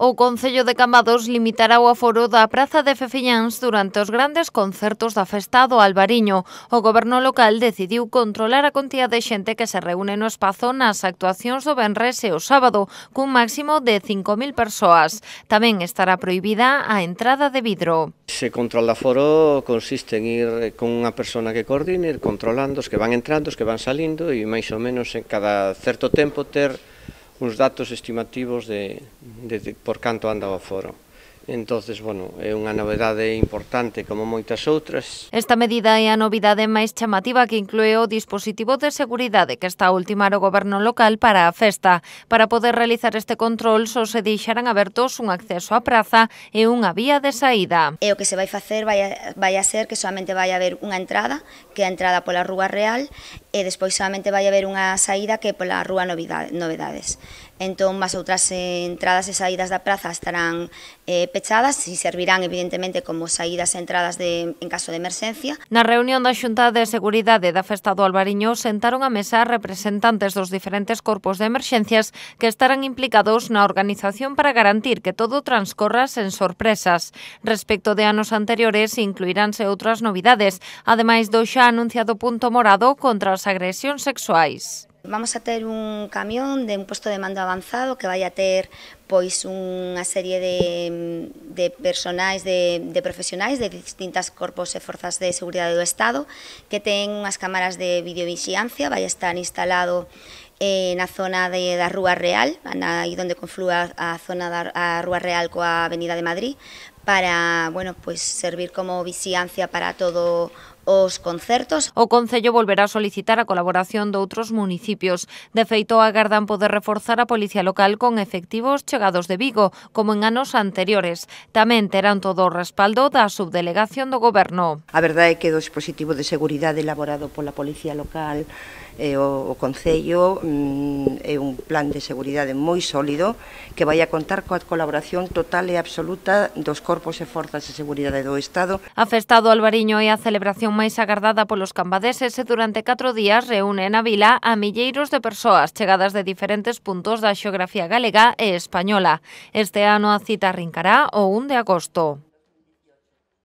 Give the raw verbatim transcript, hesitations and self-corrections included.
O Concello de Cambados limitará o aforo da Praza de Fefiñáns durante os grandes concertos da Festa do Albariño. O goberno local decidiu controlar a contía de xente que se reúne no espazo nas actuacións do venres e o sábado, cun máximo de cinco mil persoas. Tamén estará prohibida a entrada de vidro. Ese control de aforo consiste en ir con unha persona que coordine, ir controlando os que van entrando, os que van salindo e máis ou menos en cada certo tempo ter uns datos estimativos de, de, de por canto anda o aforo. Entonces, bueno, é unha novedade importante como moitas outras. Esta medida é a novidade máis chamativa que inclúe o dispositivo de seguridade que está a ultimar o goberno local para a festa. Para poder realizar este control só se deixarán abertos un acceso á praza e unha vía de saída. E o que se vai facer vai a, vai a ser que solamente vai haber unha entrada, que é a entrada pola Rúa Real, e despois solamente vai haber unha saída que é pola Rúa Novedades. Entón, as outras entradas e saídas da praza estarán eh, pechadas e servirán, evidentemente, como saídas e entradas de, en caso de emerxencia. Na reunión da Xunta de Seguridade da Festa do Albariño sentaron a mesa representantes dos diferentes corpos de emerxencias que estarán implicados na organización para garantir que todo transcorra sen sorpresas. Respecto de anos anteriores, incluiránse outras novidades, ademais do xa anunciado punto morado contra as agresións sexuais. Vamos a ter un camión de un posto de mando avanzado que vai a ter pois unha serie de, de personais, de, de profesionais de distintas corpos e forzas de seguridade do Estado que ten unhas cámaras de videovixiancia, vai estar instalado eh, na zona de, da Rúa Real, aí onde conflúa a zona da a Rúa Real coa Avenida de Madrid, para, bueno, pues servir como vixiancia para todo os concertos. O Concello volverá a solicitar a colaboración de outros municipios. De feito, agardan poder reforzar a Policía Local con efectivos chegados de Vigo, como en anos anteriores. Tamén terán todo o respaldo da subdelegación do Goberno. A verdade é que o dispositivo de seguridade elaborado pola Policía Local e o, o Concello mm, é un plan de seguridade moi sólido que vai a contar coa colaboración total e absoluta dos corpos e forzas de seguridade do Estado. A Festa do Albariño é a celebración máis agardada polos cambadeses e durante catro días reúne na vila a milleiros de persoas chegadas de diferentes puntos da xeografía galega e española. Este ano a cita arrincará o un de agosto.